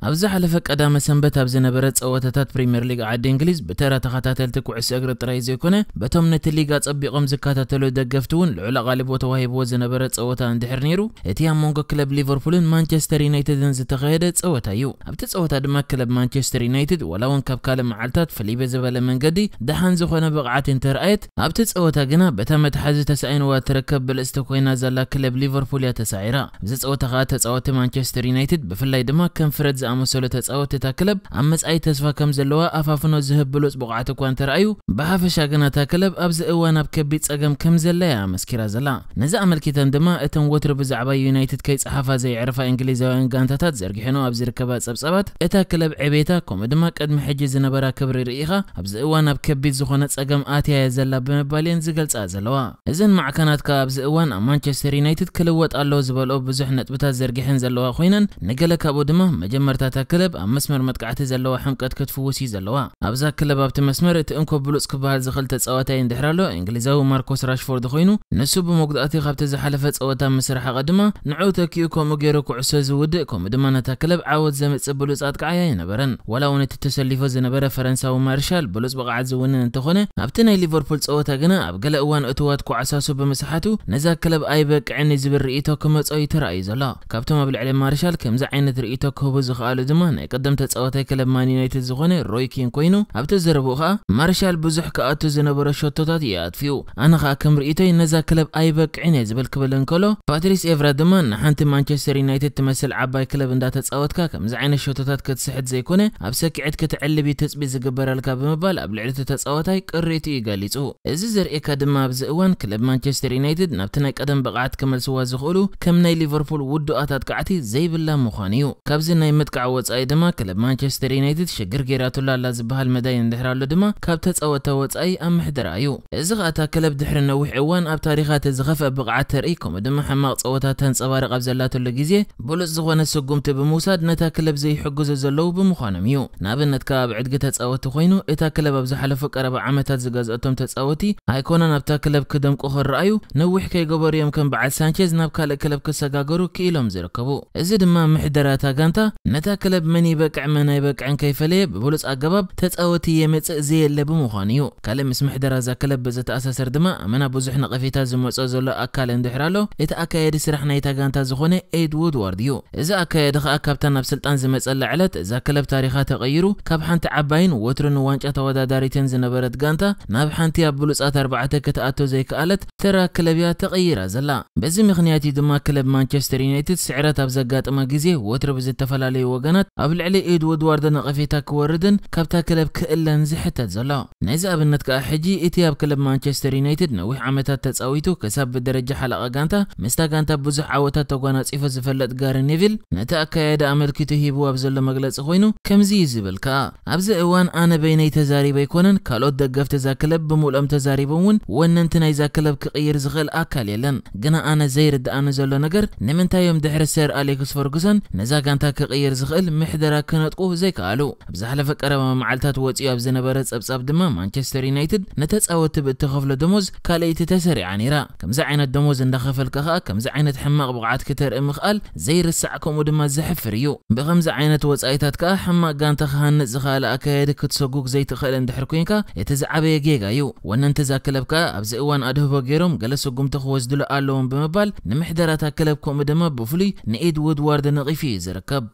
ኣብ ዝሓለፈ ቀዳመ ሰንበት ኣብ ዝነበረ ጸወታታት ፕሪምየር ሊግ ዓዲ እንግሊዝ፣ ብተራ ተኸታተልቲ ኩዕሶ እግሪ ጥራይ ዘይኮነ፣ በቶም ነቲ ሊግ ኣጸቢቖም ዝከታተሉ ደገፍቲ እውን ልዑል ኣቓልቦ ተዋሂብዎ ዝነበረ ጸወታ እንድሕር ነይሩ፣ እቲ ኣብ መንጎ ክለብ ሊቨርፑልን ማንቸስተር ዩናይትድን ዝተኻየደ ጸወታ እዩ። ኣብቲ ጸወታ ድማ ክለብ ማንቸስተር ዩናይትድ፣ ዋላ እውን ካብ ካልእ መዓልታት ፍልይ ብዝበለ መንገዲ፣ ደሓን ዝኾነ ብቕዓት እንተርኣየት፣ ኣብቲ ጸወታ ግና በታ መትሓዚ ተሳኢንዋ እትርከብ ብልጽቲ ኮይና ዘላ ክለብ ሊቨርፑል እያ ተሳዒራ። ኣብዚ ጸወታ ከኣ ተጻወትቲ ማንቸስተር ዩናይትድ፣ ብፍላይ ድማ ከም ፍረድ ዝኣመሰሉ ተጻወትቲ እታ ክለብ ኣብ መጻኢ ተስፋ ከም ዘለዋ ኣፋፍኖ ዝህብ ብሉጽ ብቕዓት እኳ እንተረኣዩ፣ ብሓፈሻ ግና እታ ክለብ ኣብዚ እዋን ኣብ ከቢድ ጸገም ከም ዘላ እያ ኣመስኪራ ዘላ። ነዚ ኣመልኪተን ድማ እተን ወትሩ ብዛዕባ ዩናይትድ ከይጸሓፋ ዘይዕርፋ እንግሊዛውያን ጋንታታት ዘርጊሐንኦ ኣብ ዝርከባ ጸብጻባት፣ እታ ክለብ ዕቤታ ከምኡ ድማ ቅድሚ ሕጂ ዝነበራ ክብሪ ርኢኻ ኣብዚ እዋን ኣብ ከቢድ ዝኾነ ጸገም ኣትያ እያ ዘላ ብምባል እየን ዝገልጻ ዘለዋ። እዘን ማዕከናት ከኣ ኣብዚ እዋን ኣብ ማንቸስተር ዩናይትድ ክልወጥ ኣለዎ ዝበልኦ ብዙሕ ነጥብታት ዘርጊሐን ዘለዋ ኮይነን፣ ንገለ ካብኡ ድማ መጀመርታ እታ ክለብ ኣብ መስመር መጥቃዕቲ ዘለዋ ሕምቀት ክትፍውስ እዩ ዘለዋ። ኣብዛ ክለብ ኣብቲ መስመር እቲ እንኮ ብሉጽ ክበሃል ዝኽእል ተጻዋታይ እንድሕር ኣሎ፣ እንግሊዛዊ ማርኮስ ራሽፎርድ ኮይኑ፣ ንሱ ብመጉዳእቲ ካብቲ ዝሓለፈ ጸወታ ምስ ረሓቐ ድማ፣ ንዕኡ ተኪኡ ከምኡ ገይሩ ኩዕሶ ዝውድእ፣ ከምኡ ድማ ነታ ክለብ ዓወት ዘምጽእ ብሉጽ ኣጥቃዓይ ኣይነበረን። ዋላ እውን እቲ ተሰሊፉ ዝነበረ ፈረንሳዊ ማርሻል ብሉጽ ብቕዓት ዝውንን እንተኾነ፣ ኣብቲ ናይ ሊቨርፑል ጸወታ ግና ኣብ ገለ እዋን እቱዋት ኳዕሳሱ ብምስሓቱ፣ ነዛ ክለብ ኣይበቅዕን እዩ ዝብል ርእይቶ ክመጾ እዩ ተራእዩ ዘሎ። ካብቶም ኣብ ልዕሊ ማርሻል ከምዚ ዓይነት ርእይቶ ክህቡ ዝኸኣሉ ድማ ናይ ቀደም ተጻዋታይ ክለብ ማን ዩናይትድ ዝኾነ ሮይ ኪን ኮይኑ፣ ኣብቲ ዘረብኡ ኸኣ ማርሻል ብዙሕ ክኣቱ ዝነበሮ ሸቶታት እዩ ኣጥፊኡ። ኣነ ኸኣ ከም ርእይቶይ ነዛ ክለብ ኣይበቅዕን እየ ዝብል ክብል እንከሎ፣ ፓትሪስ ኤቭራ ድማ ንሓንቲ ማንቸስተር ዩናይትድ ትመስል ዓባይ ክለብ እንዳተጻወትካ ከምዚ ዓይነት ሸቶታት ክትስሕት ዘይኮነ ኣብ ሰኪዐት ክትዕልብ እዩ ትጽቢት ዝግበረልካ ብምባል ኣብ ልዕሊ እቲ ተጻዋታይ ቅሬቱ እዩ ገሊጹ። እዚ ዘርእየካ ድማ ኣብዚ እዋን ክለብ ማንቸስተር ዩናይትድ ናብቲ ናይ ቀደም ብቕዓት ክመልስዋ ዝኽእሉ ከም ናይ ሊቨርፑል ውዱኣት ኣጥቃዕቲ ዘይብላ ምዃኑ እዩ። ካብዚ ናይ ምጥቃዕ ወጻኢ ድማ ክለብ ማንቸስተር ዩናይትድ ሽግር ገይራትሉ ኣላ ዝበሃል መዳይ እንድሕር ኣሎ ድማ ካብ ተጻወትታ ወጻኢ ኣብ ምሕደራ እዩ። እዚ ኸኣ እታ ክለብ ድሕሪ ነዊሕ እዋን ኣብ ታሪኻ እቲ ዝኸፍአ ብቕዓት ተርኢ ከምኡ ድማ ሕማቕ ጸወታ ተንጸባርቕ ኣብ ዘላትሉ ግዜ ብሉጽ ዝኾነ ስጉምቲ ብምውሳድ ነታ ክለብ ዘይሕግዙ ዘለዉ ብምዃኖም እዩ። ንኣብነት ከኣ ኣብ ዕድጊ ተጻወትቲ ኮይኑ እታ ክለብ ኣብ ዝሓለፉ ቀረባ ዓመታት ዝገዝአቶም ተጻወቲ ኣይኮነን ኣብታ ክለብ ክደምቁ ክረኣዩ ነዊሕ ከይገበሩ እዮም ከም በዓል ሳንቼዝ ናብ ካልእ ክለብ ክሰጋገሩ ክኢሎም ዝርከቡ። እዚ ድማ ምሕደራ እታ ጋንታ ነታ ክለብ መን ይበቅዕ መን ኣይበቅዕን ከይፈለየ ብብሉጽ ኣገባብ ተጻወቲ የምጽእ ዘየለ ብምዃኑ እዩ። ካልእ ምስ ምሕደራ እዛ ክለብ ብዝተኣሳሰር ድማ ኣመና ብዙሕ ነቐፌታ ዝመጾ ዘሎ ኣካል እንድሕር ኣሎ እቲ ኣካየዲ ስራሕ ናይታ ጋንታ ዝኾነ ኤድ ውድዋርድ እዩ። እዚ ኣካየዲ ኸኣ ካብታ ናብ ስልጣን ዝመጸላ ዕለት እዛ ክለብ ታሪኻ ተቐይሩ ካብ ሓንቲ ዓባይን ወትሩ ንዋንጫ ተወዳዳሪትን ዝነበረት ጋንታ ናብ ሓንቲ ኣብ ብሉጻት ኣርባዕተ ክትኣቶ ዘይከኣለት ተራ ክለብ እያ ተቐይራ ዘላ። በዚ ምኽንያት እዩ ድማ ክለብ ማንቸስተር ዩናይትድ ስዕረት ኣብ ዘጋጠማ ግዜ ወትሩ ብዝተፈላለዩ ወገናት ኣብ ልዕሊ ኤድ ውድዋርድ ነቐፌታ ክወርድን ካብታ ክለብ ክእለን ዝሕተት ዘሎ። ነዚ ኣብነት ከኣ ሕጂ እቲ ኣብ ክለብ ማንቸስተር ዩናይትድ ነዊሕ ዓመታት ተጻዊቱ ክሳብ ብደረጃ ሓለቓ ጋንታ ምስታ ጋንታ ብዙሕ ዓወታት ተጓናጺፉ ዝፈለጥ ጋሪ ኔቪል ነቲ ኣካያይዳ ኣመልኪቱ ሂብዎ ኣብ ዘሎ መግለጺ ኮይኑ ከምዚ እዩ ዝብል ከኣ፣ ኣብዚ እዋን ኣነ በይነይ ተዛሪበ ኣይኮነን፣ ካልኦት ደገፍቲ እዛ ክለብ ብምልኦም ተዛሪቦም እውን ወነንቲ ናይዛ ክለብ ክቕይር ዝኽእል ኣካል የለን። ግና ኣነ ዘይርድኣኒ ዘሎ ነገር ንምንታይ እዮም ድሕሪ ሰር ኣሌክስ ፈርጉሰን ነዛ ጋንታ ክቕይር ዝኽእል ምሕደራ ክነጥቁ ዘይከኣሉ? ኣብ ዝሓለፈ ቀረባ መዓልታት ወጺኡ ኣብ ዝነበረ ጸብጻብ ድማ ማንቸስተር ዩናይትድ ንተጻወትቲ ብእትኸፍሎ ደሞዝ ካልኣይቲ ተሰሪዓ ነይራ። ከምዚ ዓይነት ደሞዝ እንዳኸፈልካ ኸኣ ከምዚ ዓይነት ሕማቕ ብቕዓት ክተርኢ ምኽኣል ዘይርሳዕ ከምኡ ድማ ዘሕፍር እዩ። ብኸምዚ ዓይነት ወጻኢታት ከኣ ሕማቕ ጋንታ ክሃንጽ ዝኸኣለ ኣካያዲ ክትሰጉግ ዘይትኽእል እንድሕር ኮይንካ እቲ ዝዓበየ ጌጋ እዩ። ወነንቲ እዛ ክለብ ከኣ ኣብዚ እዋን ኣድህቦ ገይሮም ገለ ስጉምቲ ክወስድሉ ኣለዎም ብምባል ንምሕደራታ ክለብ ከምኡ ድማ ብፍሉይ ንኤድ ውድዋርድ ነቒፉ እዩ ዝርከብ።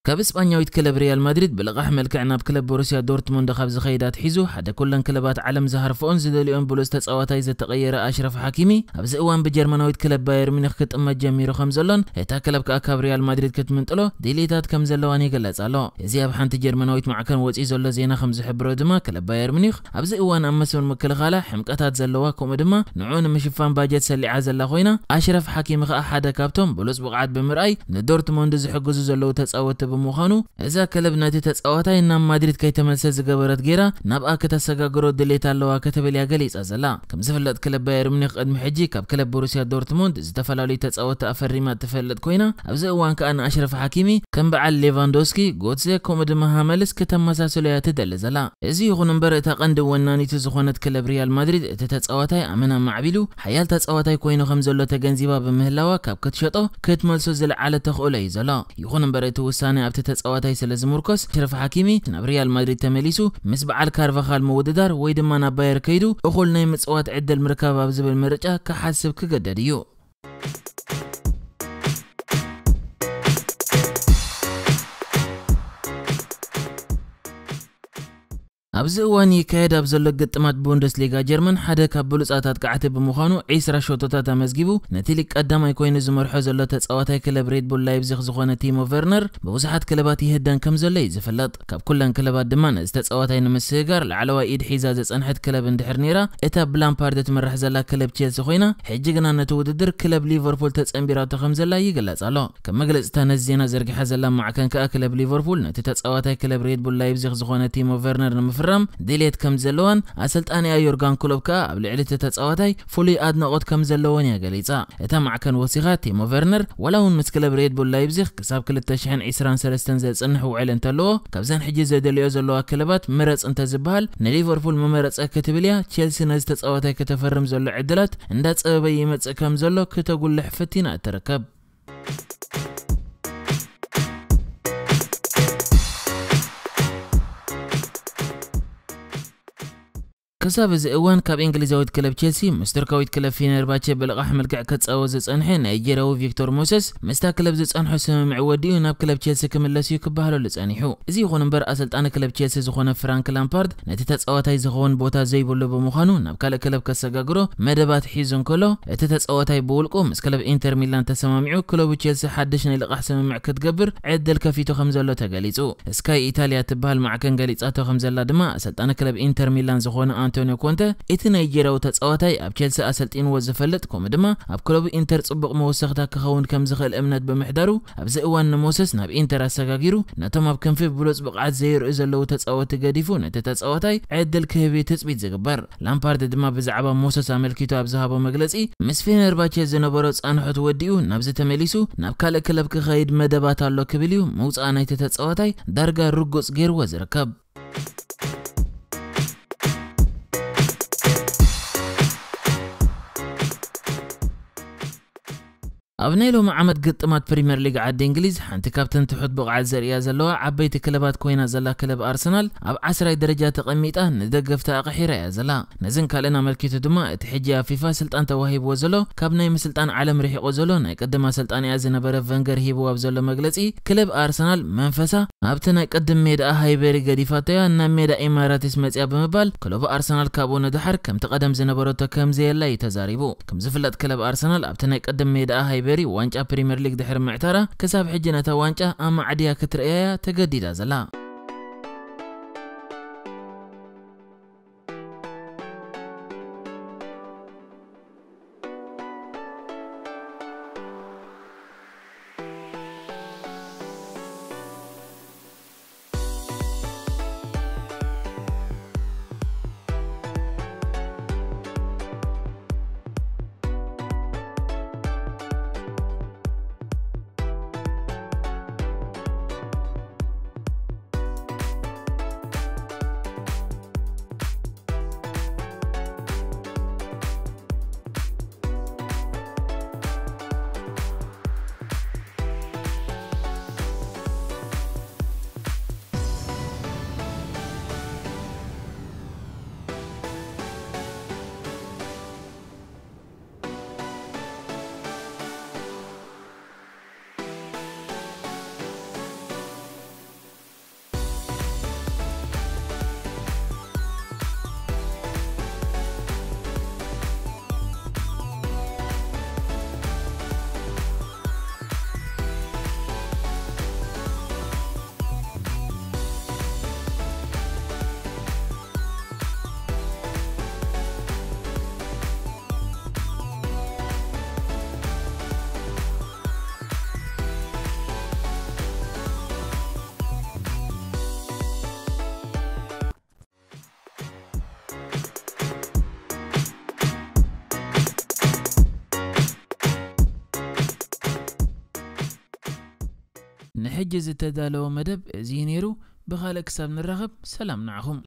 ካብ እስጳኛዊት ክለብ ሪያል ማድሪድ ብልቓሕ መልክዕ ናብ ክለብ ቦሩስያ ዶርትሙንድ ካብ ዝኸይድ ኣትሒዙ ሓደ ኩለን ክለባት ዓለም ዝሃርፍኦን ዝደልዮን ብሉጽ ተጻዋታይ ዝተቐየረ ኣሽረፍ ሓኪሚ ኣብዚ እዋን ብጀርመናዊት ክለብ ባየር ሚኒክ ክጥመት ጀሚሩ ከም ዘሎን እታ ክለብ ከኣ ካብ ሪያል ማድሪድ ክትምንጥሎ ድሌታት ከም ዘለዋን ይግለጽ ኣሎ። እዚ ኣብ ሓንቲ ጀርመናዊት ማዕከን ወጺኡ ዘሎ ዜና ከም ዝሕብሮ ድማ ክለብ ባየር ሚኒክ ኣብዚ እዋን ኣብ መስመር ምክልኻላ ሕምቀታት ዘለዋ ከምኡ ድማ ንዕኡ ንምሽፋን ባጀት ሰሊዓ ዘላ ኮይና ኣሽረፍ ሓኪሚ ከኣ ሓደ ካብቶም ብሉጽ ብቕዓት ብምርኣይ ንዶርትሙንድ ዝሕግዙ ዘለዉ ተጻወትቲ ብምዃኑ፣ እዛ ክለብ ነቲ ተጻዋታይ ናብ ማድሪድ ከይተመልሰ ዝገበረት ጌራ ናብኣ ከተሰጋግሮ ድሌት ኣለዋ ክትብል እያ ገሊጻ ዘላ። ከም ዝፍለጥ፣ ክለብ ባየር ሙኒክ ቅድሚ ሕጂ ካብ ክለብ ቦሩሲያ ዶርትሙንድ ዝተፈላለዩ ተጻወትቲ ኣፈሪማ ትፈልጥ ኮይና፣ ኣብዚ እዋን ከኣ ንኣሽረፍ ሓኪሚ ከም በዓል ሌቫንዶስኪ፣ ጎትዜ፣ ከምኡ ድማ ሃመልስ ከተመሳስሎ እያ ትደሊ ዘላ። እዚ ይኹን እምበር፣ እታ ቀንዲ ወናኒቱ ዝኾነት ክለብ ሪያል ማድሪድ፣ እቲ ተጻዋታይ ኣመና ማዕቢሉ ሓያል ተጻዋታይ ኮይኑ ከም ዘሎ ተገንዚባ ብምህላዋ፣ ካብ ክትሸጦ ክትመልሶ ዝለዓለ ተኽእሎ እዩ ዘሎ። ይኹን እምበር፣ እቲ ውሳነ ኣብቲ ተጻዋታይ ስለ ዝምርኮስ፣ ኣሽረፍ ሓኪሚ ናብ ሪያል ማድሪድ ተመሊሱ ምስ በዓል ካርቫኻል ምውድዳር ወይ ድማ ናብ ባየር ከይዱ እኹል ናይ ምጽዋት ዕድል ምርካብ ኣብ ዝብል ምርጫ ክሓስብ ክገደድ እዩ። ኣብዚ እዋን ይካየድ ኣብ ዘሎ ግጥማት ቡንደስሊጋ ጀርመን ሓደ ካብ ብሉጻት ኣጥቃዕቲ ብምዃኑ ዒስራ ሸቶታት ኣመዝጊቡ፣ ነቲ ሊግ ቀዳማይ ኮይኑ ዝመርሖ ዘሎ ተጻዋታይ ክለብ ሬድ ቡል ላይፕዚግ ዝኾነ ቲሞ ቨርነር ብብዙሓት ክለባት ይህደን ከም ዘሎ እዩ ዝፍለጥ። ካብ ኩለን ክለባት ድማ ነዚ ተጻዋታይ ንምስግጋር ላዕለዋይ ኢድ ሒዛ ዝጸንሐት ክለብ እንድሕር ነይራ፣ እታ ብላምፓርድ ትምራሕ ዘላ ክለብ ቼልሲ ኮይና፣ ሕጂ ግና ነቲ ውድድር ክለብ ሊቨርፑል ተጸንቢራቶ ከም ዘላ ይግለጽ ኣሎ። ከም መግለጽታ ነዚ ዜና ዘርጊሓ ዘላ ማዕከን ከኣ ክለብ ሊቨርፑል ነቲ ተጻዋታይ ክለብ ሬድ ቡል ላይፕዚግ ዝኾነ ቲሞ ቨርነር ንምፍራም ድሌት ከም ዘለዋን ኣሰልጣኒኣ ዮርጋን ክሎፕ ከኣ ኣብ ልዕሊ እቲ ተጻዋታይ ፍሉይ ኣድናቖት ከም ዘለዎን እያ ገሊጻ። እታ ማዕከን ወሲኻ ቲሞ ቨርነር ዋላ እውን ምስ ክለብ ሬድ ቡል ላይፕዚግ ክሳብ ክልተ ሽሕን ዕስራን ሰለስተን ዘጽንሕ ውዕል እንተለዎ፣ ካብዘን ሕጂ ዘደልዮ ዘለዋ ክለባት ምረጽ እንተዝበሃል ንሊቨርፑል ምመረጸ ክትብል እያ። ቼልሲ ነዚ ተጻዋታይ ከተፈርም ዘሎ ዕድላት እንዳጸበበ ይመጽእ ከም ዘሎ ክተጉልሕ ፈቲና እትርከብ። ክሳብ እዚ እዋን ካብ እንግሊዛዊት ክለብ ቼልሲ ምስ ቱርካዊት ክለብ ፊነርባቸ ብልቓሕ መልክዕ ክጻወት ዝጸንሐ ናይጀርያዊ ቪክቶር ሞሰስ ምስታ ክለብ ዝጸንሖ ስምምዕ ወዲኡ ናብ ክለብ ቼልሲ ክምለስ እዩ ክበሃለሉ ጸኒሑ። እዚ ይኹን እምበር ኣሰልጣኒ ክለብ ቼልሲ ዝኾነ ፍራንክ ላምፓርድ ነቲ ተጻዋታይ ዝኸውን ቦታ ዘይብሉ ብምዃኑ ናብ ካልእ ክለብ ከሰጋግሮ መደባት ሒዙ እንከሎ፣ እቲ ተጻዋታይ ብውልቁ ምስ ክለብ ኢንተር ሚላን ተሰማሚዑ ክለቡ ቼልሲ ሓድሽ ናይ ልቓሕ ስምምዕ ክትገብር ዕድል ከፊቱ ከም ዘሎ ተገሊጹ። ስካይ ኢታልያ ትበሃል ማዕከን ገሊጻቶ ከም ዘላ ድማ ኣሰልጣኒ ክለብ ኢንተር ሚላን ዝኾነ ኣንቶኒዮ ኮንተ፣ እቲ ናይጀርያዊ ተጻዋታይ ኣብ ቼልሲ ኣሰልጢንዎ ዝፈልጥ ከምኡ ድማ ኣብ ክለቡ ኢንተር ጽቡቕ መወሰኽታ ክኸውን ከም ዝኽእል እምነት ብምሕዳሩ ኣብዚ እዋን ንሞሰስ ናብ ኢንተር ኣሰጋጊሩ ነቶም ኣብ ክንፊ ብሉጽ ብቕዓት ዘይርእዩ ዘለዉ ተጻወትቲ ገዲፉ ነቲ ተጻዋታይ ዕድል ክህብ እዩ ትጽቢት ዝግበር። ላምፓርድ ድማ ብዛዕባ ሞሰስ ኣመልኪቱ ኣብ ዝሃቦ መግለጺ፣ ምስ ፌነርባቸ ዝነበሮ ጻንሖት ወዲኡ ናብዚ ተመሊሱ ናብ ካልእ ክለብ ክኸይድ መደባት ኣሎ ክብል እዩ ምውጻእ ናይቲ ተጻዋታይ ዳርጋ ርጉጽ ገይርዎ ዝርከብ። ኣብ ናይ ሎሚ ዓመት ግጥማት ፕሪምየር ሊግ ዓዲ እንግሊዝ ሓንቲ ካብተን ትሑት ብቕዓት ዘርእያ ዘለዋ ዓበይቲ ክለባት ኮይና ዘላ ክለብ ኣርሰናል ኣብ ዓስራይ ደረጃ ተቐሚጣ ንደገፍታ ኣቕሒራ እያ ዘላ። ነዝን ካልእን ኣመልኪቱ ድማ እቲ ሕጂ ኣብ ፊፋ ስልጣን ተዋሂብዎ ዘሎ ካብ ናይ ምስልጣን ዓለም ርሒቑ ዘሎ ናይ ቅድም ኣሰልጣኒኣ ዝነበረ ቨንገር ሂብዎ ኣብ ዘሎ መግለጺ፣ ክለብ ኣርሰናል መንፈሳ ኣብቲ ናይ ቅድም ሜዳኣ ሃይበሪ ገዲፋቶያ ናብ ሜዳ ኢማራትስ መጽያ ብምባል ክለቡ ኣርሰናል ካብኡ ንደሓር ከምቲ ቀደም ዝነበረቶ ከም ዘየላ እዩ ተዛሪቡ። ከም ዝፍለጥ ክለብ ኣርሰናል ኣብቲ ናይ ቅድም ሜዳኣ ሃይበሪ ዋንጫ ፕሪምየር ሊግ ድሕሪ ምዕታራ ክሳብ ሕጂ ነታ ዋንጫ ኣማዕድያ ክትርእያያ ተገዲዳ ዘላ። ሕጂ ዝተዳለወ መደብ እዚ ነይሩ። ብኻልእ ክሳብ ንራኸብ ሰላም ንዓኹም።